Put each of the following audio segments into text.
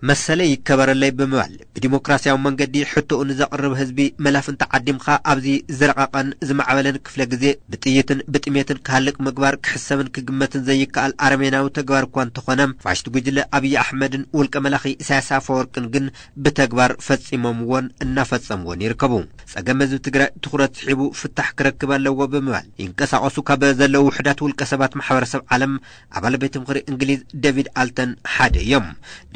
መሰለይ ይከበረለይ ብምባል ብዲሞክራሲያዊ መንገዲ ሕቶኡ ንዘቕርብ ህዝቢ መላፍንቲ ዓዲምካ ኣብዚ ዝረቐቐን ዝማዕበለን ክፍለ ግዜ ብጥይትን ብጥሜትን ክሃልቅ ምግባር ክሕሰብን ክግመትን ዘይከኣል ኣረሜናዊ ተግባር እኳ እንተኾነ፣ ፋሽስት ጉጅለ ኣብይ ኣሕመድን ውልቀ መላኺ ኢሳያስ ኣፈወርቅን ግን ብተግባር ፈጺሞምዎን እናፈጸምዎን ይርከቡ። ጸገም ህዝቢ ትግራይ ትኹረት ስሒቡ ፍታሕ ክረክብ ኣለዎ ብምባል ይንቀሳቐሱ ካብ ዘለዉ ውሕዳት ውልቀ ሰባት ማሕበረሰብ ዓለም ኣባል ቤት ምኽሪ እንግሊዝ ዴቪድ ኣልተን ሓደ እዮም።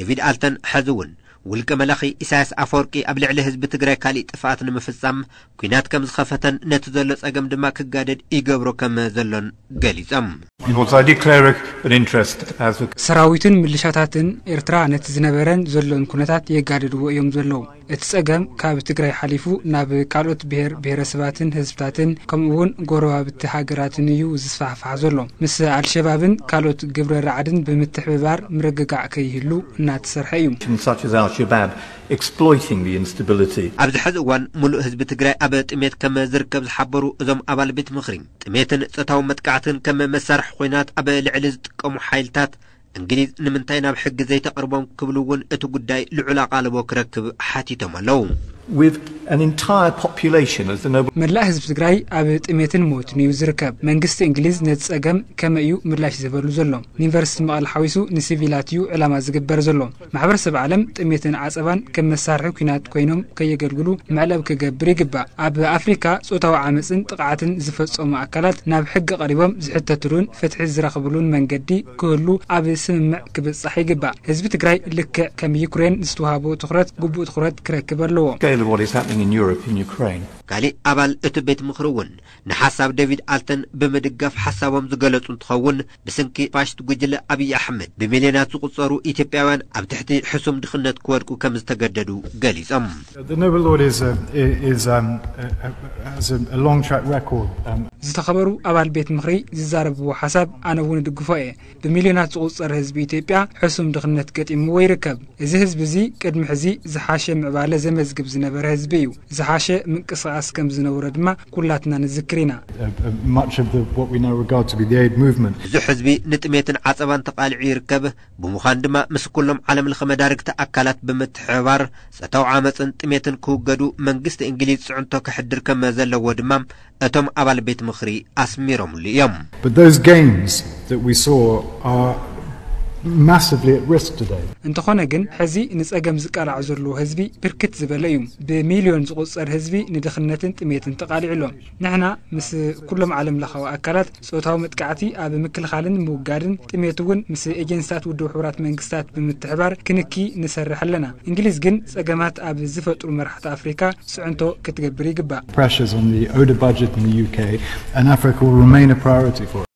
ዴቪድ ኣልተን ሕዚ እውን ውልቀ መላኺ ኢሳያስ ኣፈወርቂ ኣብ ልዕሊ ህዝቢ ትግራይ ካሊእ ጥፍኣት ንምፍጻም ኲናት ከም ዝኸፈተን ነቲ ዘሎ ጸገም ድማ ክጋደድ ይገብሮ ከም ዘሎን ገሊጾም። Because I declare it an interest as a ሰራዊትን ምልሻታትን ኤርትራ ነቲ ዝነበረን ዘሎን ኩነታት የጋድድዎ እዮም ዘለዉ። እቲ ጸገም ካብ ትግራይ ሓሊፉ ናብ ካልኦት ብሔር ብሔረሰባትን ህዝብታትን ከምኡ እውን ጎረባብቲ ሃገራትን እዩ ዝስፋሕፋሕ ዘሎ። ምስ ኣልሸባብን ካልኦት ግብረ ራዕድን ብምትሕብባር ምርግጋዕ ከይህሉ እናተሰርሐ እዩ። Such as Al Shabaab exploiting the instability. ኣብዚ ሕዚ እዋን ሙሉእ ህዝቢ ትግራይ ኣብ ጥሜት ከም ዝርከብ ዝሓበሩ እዞም ኣባል ቤት ምኽሪ፣ ጥሜትን ጾታዊ መጥቃዕትን ከም መሳርሒ ኲናት ኣብ ልዕሊ ዝጥቀሙ ሓይልታት እንግሊዝ ንምንታይ ናብ ሕጊ ዘይተቕርቦም ክብሉ እውን እቲ ጉዳይ ልዑል ኣቓልቦ ክረክብ ሓቲቶም ኣለዉ። With an entire population, as the Nobel መላእ ህዝቢ ትግራይ ኣብ ጥሜትን ሞትን እዩ ዝርከብ። መንግስቲ እንግሊዝ ነቲ ጸገም ከመይ እዩ ምላሽ ዝህበሉ ዘሎ? ንዩኒቨርሲቲ መቐለ ሓዊሱ ንሲቪላት እዩ ዕላማ ዝግበር ዘሎ። ማሕበረሰብ ዓለም ጥሜትን ዓጸባን ከም መሳርሒ ኲናት ኮይኖም ከየገልግሉ መዕለብ ክገብር ይግባእ። ኣብ ኣፍሪካ ጾታዊ ዓመፅን ጥቕዓትን ዝፈጸሙ ኣካላት ናብ ሕጊ ቀሪቦም ዝሕተትሉን ፍትሒ ዝረኽብሉን መንገዲ ክህሉ ኣብ ስምምዕ ክብጻሕ ይግባእ። ህዝቢ ትግራይ ልክዕ ከም ዩክሬን ዝተዋህቦ ትኹረት ግቡእ ትኹረት ክረክብ ኣለዎ። Scale of what is happening in Europe in Ukraine. ካሊእ ኣባል እቲ ቤት ምኽሪ እውን ንሓሳብ ዴቪድ ኣልተን ብምድጋፍ ሓሳቦም ዝገለጹ እንትኸውን፣ ብስንኪ ፋሽስት ጉጅለ ኣብይ ኣሕመድ ብሚልዮናት ዝቑጸሩ ኢትዮጵያውያን ኣብ ትሕቲ ሕሱም ድኽነት ክወድቁ ከም ዝተገደዱ ገሊጾም። The Nobel Laureate is, a, is um, a, a, has a, a long track record. Um, ዝተኸበሩ ኣባል ቤት ምኽሪ ዝዛረብዎ ሓሳብ ኣነ እውን እድግፎ እየ። ብሚልዮናት ዝቑጸር ህዝቢ ኢትዮጵያ ሕሱም ድኽነት ገጢምዎ ይርከብ። እዚ ህዝቢ እዚ ቅድሚ ሕዚ ዝሓሸ ምዕባለ ዘመዝግብ ዝነበረ ህዝቢ እዩ። ዝሓሸ ምንቅስቓስ ከም ዝነበሮ ድማ ኩላትና ንዝክር ኢና። uh, uh, much of the, what we now regard to be the aid movement. ብዙሕ ህዝቢ ንጥሜትን ዓጸባን ተቓሊዑ ይርከብ። ብምዃን ድማ ምስ ኩሎም ዓለም ለኸ መዳርግቲ ኣካላት ብምትሕብባር ጾታዊ ዓመፅን ጥሜትን ክውገዱ መንግስቲ እንግሊዝ ፅዕንቶ ከሕድር ከም ዘለዎ ድማ እቶም ኣባል ቤት ምኽሪ ኣስሚሮምሉ እዮም። But those gains that we saw are massively at risk today. እንተኾነ ግን ሕዚ ንጸገም ዝቃላዕ ዘሎ ህዝቢ ብርክት ዝበለ እዩ። ብሚልዮን ዝቑጸር ህዝቢ ንድኽነትን ጥሜትን ተቓሊዑ ኣሎ። ንሕና ምስ ኩሎም ዓለም ለኻዊ ኣካላት ጾታዊ መጥቃዕቲ ኣብ ምክልኻልን ምውጋድን ጥሜት እውን ምስ ኤጀንስታት ውድብ ሕቡራት መንግስታት ብምትሕባር ክንኪ ንሰርሕ ኣለና። እንግሊዝ ግን ጸገማት ኣብ ዝፈጥሩ መራሕቲ ኣፍሪካ ፅዕንቶ ክትገብር ይግባእ። Pressures on the ODA budget in the U K and Africa will remain a priority for us.